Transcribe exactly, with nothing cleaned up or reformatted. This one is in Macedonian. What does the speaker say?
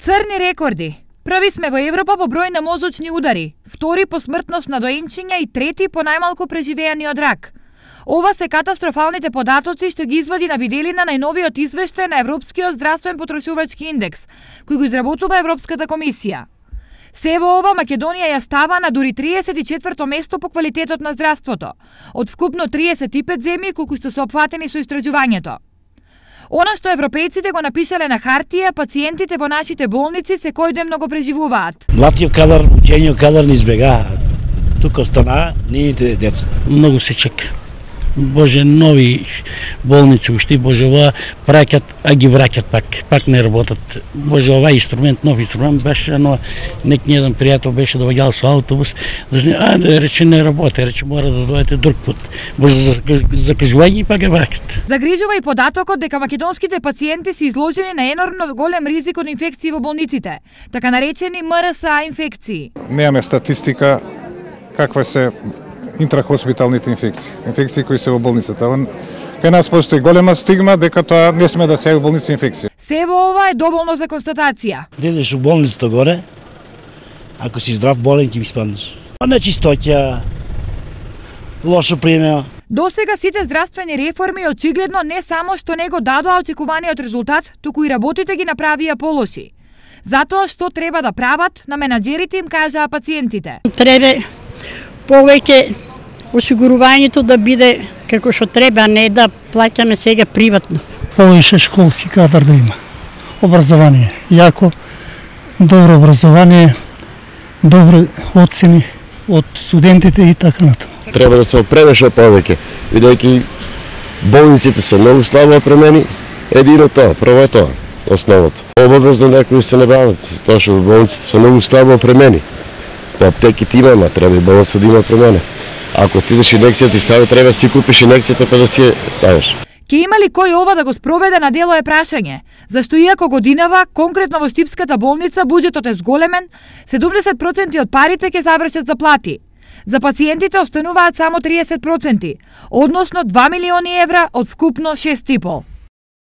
Црни рекорди. Први сме во Европа по број на мозочни удари, втори по смртност на доенчиња и трети по најмалку преживеани од рак. Ова се катастрофалните податоци што ги извади на виделина најновиот извештај на Европскиот здравствен потрошувачки индекс, кој го изработува Европската комисија. Се во ова Македонија ја става на дури триесет и четврто место по квалитетот на здравството, од вкупно триесет и пет земји колку што се опфатени со истражувањето. Она што европејците го напишале на хартија, пациентите во нашите болници секој ден го преживуваат. Младиот кадар, учениот кадар не избегаат. Тука останаа нивните деца. Многу се чека. Боже, нови болници уште, Боже, ова праќат, а ги враќат пак, пак не работат. Боже, ова инструмент, нов инструмент беше, но нек ни еден пријател беше доаѓал со автобус, да а, да рече не работи, рече мора да дојдете друг пат. Боже, закажување и пак ги враќат. Загрижува и податокот дека македонските пациенти се изложени на енормно голем ризик од инфекции во болниците, така наречени М Р С А инфекции. Немаме статистика каква се интрахоспиталните инфекции, инфекции кои се во болницата. Кај нас постои голема стигма дека тоа не сме да се јави болница инфекција. Се во ова е доволно за констатација. Дедеш у болницата горе, ако си здрав болен ќе ви спаднеш. Нечистоќа, лошо примеа. Досега сите здравствени реформи очигледно не само што не го дадоа очекуваниот резултат, туку и работите ги направија полоши. Затоа што треба да прават, на менаџерите им кажаа пациентите. Треба повеќе осигурувањето да биде како што треба, а не да плаќаме сега приватно. Повеќе школски кадар да има. Образование, јако, добро образование, добри оцени од студентите и така натаму. Треба да се опреме што повеќе, бидејќи болниците се многу слабо опремени, едино тоа, прво е тоа, основното. Обавезно некои се не бават, тоа што болниците се многу слабо опремени. По аптеките имаме, треба и болница да има промена. Ако ти идеш инекција ти стави, треба да си купиш инекцијата па да си ја ставиш. Ке има ли кој ова да го спроведе на дело е прашање? Зашто иако годинава, конкретно во Штипската болница, буџетот е зголемен, седумдесет проценти од парите ќе завршат за плати. За пациентите остануваат само триесет проценти, односно два милиони евра од вкупно шест и пол.